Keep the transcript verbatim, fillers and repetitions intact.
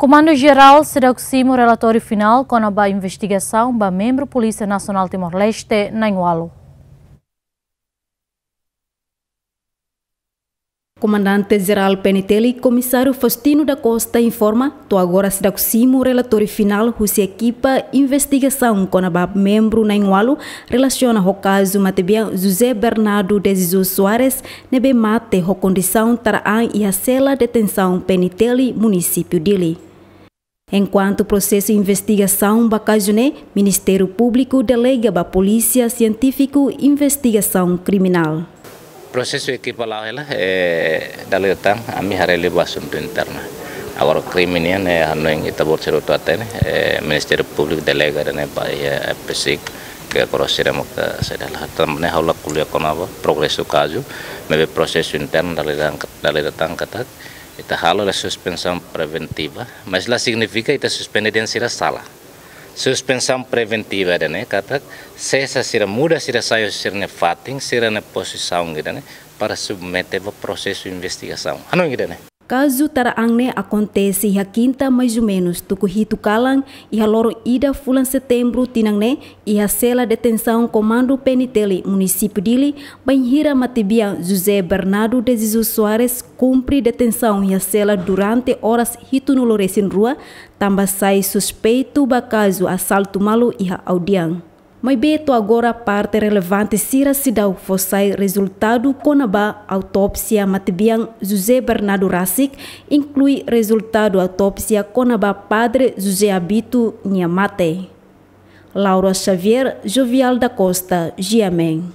Komandu Jerál seidauk simu relatóriu finál kona-ba investigasaun ba membru Polísia Nasionál Timor-Leste na'in-ualu. Komandante Jerál P N T L, Komisáriu Faustino da Costa informa, to'o agora seidauk simu relatóriu finál husi ekipa investigasaun kona-ba membru na'in-ualu relasiona ho kazu matebian José Bernardo de Jesus Soares ne'ebé mate ho kondisaun tara an iha sela detensaun P N T L munisípiu Dili. Enkuantu prosesu investigasaun ba kazu ne'e, Ministériu Públiku delega ba Polísia Sientífiku Investigasaun Kriminál. Prosesu ekipa la'o hela, eh, dala ida tan, ami haree liu ba asuntu interna. Agora krime nian, eh, hanoin ita-boot sira hotu hatene, eh, Ministériu Públiku delega ida-ne'e ba, eh, F P C, ke agora sira maka saida la. Tanba ne'e ha'u la ko'alia kona-ba progresu kazu, maibé prosesu internu dala ida tan, dala ida tan katak, ita halo hela suspensaun preventiva, mas la signifika ita suspende de'it sira sala. Suspensaun preventiva ida-ne'e katak sesa sira, muda sira sai husi sira-nia fatin, sira-nia pozisaun ida-ne'e para submete ba prosesu investigasaun. Hanoin ida-ne'e. Kazu tara an ne'e akontese iha kinta maizumenus tuku hitu kalan iha loron ida fulan setembru tinan ne'e iha sela detensaun Komandu P N T L munisípiu Dili, bainhira matebian José Bernardo de Jesus Soares kumpre detensaun iha sela durante oras hitunulu-resin-rua, tanba sai suspeitu ba kazu asaltu malu iha Audian. Maibé to'o agora parte relevante sira seidauk fó sai rezultadu kona-ba autópsia matebian José Bernardo rasik, inklui rezultadu autópsia kona-ba Padre José Abito nia mate. Laura Xavier, Jovial da Costa, G M N.